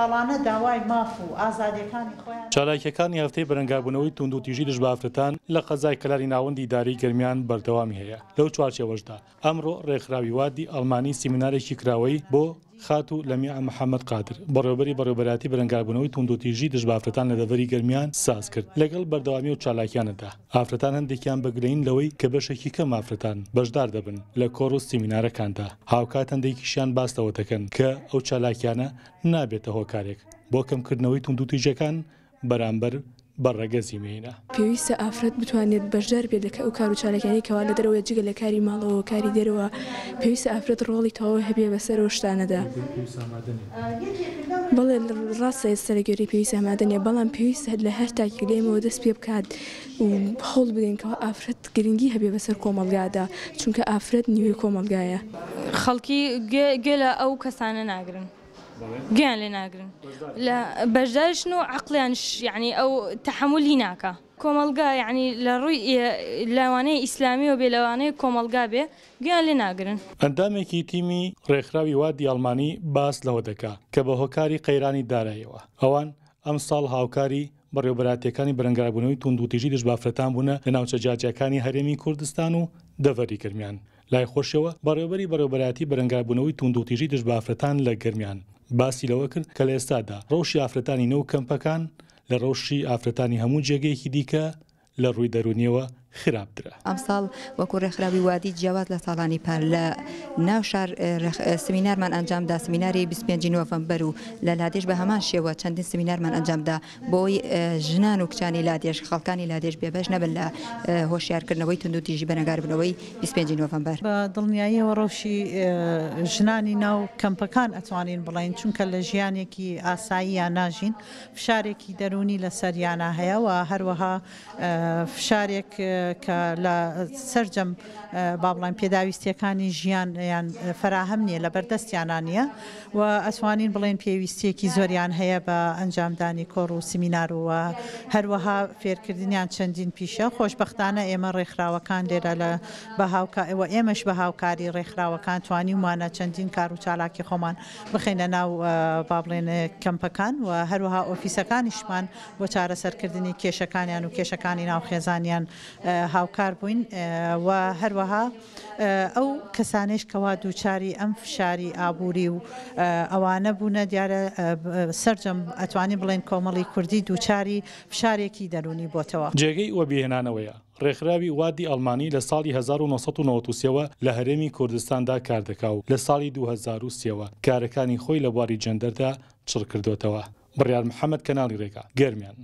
ساڵانە داوای ماف و ئازادیەکانی خۆیان. چالاکییەکانی هەفتەی بەرەنگاربوونەوەی توندوتیژی دژ بە ئافرەتان لە قەزای کەلاری ناوەندی ئیدارەی گەرمیان بەردەوامی هەیە، لەو چوارچێوەشدا ئەمڕۆ ڕێکخراوی وادی ئەڵمانی سیمینارێکی کراوەی بۆ خاتوو لەمیعە محەمەد قادر، بەڕێوەبەری بەڕێوەبەرایەتی بەرەنگاربوونەوەی توندوتیژی دژ بە ئافرەتان لە دەڤەری گەرمیان ساز کرد، لەگەڵ بەردەوامی ئەو چالاکیانەدا ئافرەتان هەندێکیان بە گلەیین لەوەی کە بەشێکی کەم ئافرەتان بەشدار دەبن لە کۆڕ و سیمینارەکاندا، هاوکات هەندێکیشیان باس لەوە دەکەن کە ئەو چالاکیانە نابێتە هۆکارێک بۆ کەمکردنەوەی توندوتیژیەکان بەرامبەر بە ڕەگەزی مێینە. پێویستە ئافرەت بتوانێت بەشدار بێت لە ئەو کار و چالاکیانەی کەوا لە دەرەوەیە جگە لە کاری ماڵەوە و کاری دەرەوە، پێویستە ئافرەت ڕۆڵی تەواوی هەبێ بەسەر ئەو شتانەدا. بەڵێ ڕاستە ئێستا لە گوێرەی پێویست ئامادە نییە، بەڵام پێویستە لە هەر تاکێک لە ئێمەوە دەست پێ بکات و هەوڵ بدەین کەوا ئافرەت گرنگی هەبێ بەسەر کۆمەڵگادا، چونکە ئافرەت نیوەی کۆمەڵگایە. خەڵکی گوێ لە ئەو کەسانە ناگرن. گوێیان لێ ناگرن لە بەشدارشن و عەقڵیانش یەعنی ئەو تەحەمولی ناکا. کۆمەڵگا یەعنی لە ڕووی لەوانەیە ئیسلامیەوە بێ لەوانەیە کۆمەڵگا بێ گوێیان لێ ناگرن. ئەندامێکی تیمی ڕێکخراوی وادی ئەڵمانی باس لەوە دەکا کە بە هۆکاری قەیرانی داراییەوە ئەوان ئەمساڵ هاوکاری بەڕێوەبەرایەتییەکانی بەرەنگاربوونەوەی توندوتیژی دژ بە ئافرەتان بوونە لە ناوچە جیاجیاکانی هەرێمی کوردستان و دەڤەری گەرمیان. لای خۆشیەوە بەڕێوەبەری بەڕێوەبەرایەتی بەرەنگاربوونەوەی توندوتیژی دژ بە ئافرەتان لە گەرمیان باسی لەوە کرد کە لە ئێستادا ڕەوشی ئافرەتانی نێو کەمپەکان لە ڕەوشی ئافرەتانی هەموو جێگەیەکی دیکە لە ڕووی دەروونیەوە خراپترە. ئەمساڵ وەکو ڕێکخراوی وادی جیاواز لە ساڵانی پار لە ناو شار سمینارمان ئەنجامدا، سمیناری 25 نۆڤەمبەر و لە لادێش بە هەمان شێوە چەندین سمینارمان ئەنجامدا بۆی ژنان و کچانی لادێش، خەڵکانی لادێش بێبەش نەبن لە هۆشیارکردنەوەی توندوتیژی بەرەنگاربوونەوەی 25 نۆڤەمبەر. بە دڵنیاییەوە ڕەوشی ژنانی ناو کەمپەکان ئەتوانین بڵێین چونکە لە ژیانێکی ئاساییان ناژین، فشارێکی دەروونی لەسەریانە هەیە و هەروەها فشارێک کە لە سەرجەم با بڵێین پێداویستیەکانی ژیان یان فەراهەم نییە لە بەردەستیانە نییە و ئەتوانین بڵێین پێویستیەکی زۆریان هەیە بە ئەنجامدانی کۆڕ و سمینار و هەروەها فێرکردنیان چەندین پیشە. خۆشبەختانە ئێمە ڕێکخراوەکان لێرە لە بە هاوکا و ئێمەش بە هاوکاری ڕێکخراوەکان توانیومانە چەندین کار و چالاکی خۆمان بخەینە ناو با بڵێن کەمپەکان و هەروەها ئۆفیسەکانیشمان بۆ چارەسەرکردنی کێشەکانیان و کێشەکانی ناو خێزانیان هاوکار بووین و هەروەها ئەو کەسانەیش کەوا دووچاری ئەم فشاری ئابووری و ئەوانە بوونە دیارە سەرجەم ئەتوانین بڵێین کۆمەڵی کوردی دووچاری فشارێکی دەروونی بۆتەوە. جێگەی وەبیرهێنانەوەیە، ڕێکخراوی وادی ئەڵمانی لە ساڵی 1993 ەوە لە هەرێمی کوردستاندا کاردەکا و لە ساڵی 2003 ەوە کارەکانی خۆی لە بواری جێندەردا چڕکردۆتەوە. بڕیار محەمەد کەناڵی ڕێگا، گەرمیان.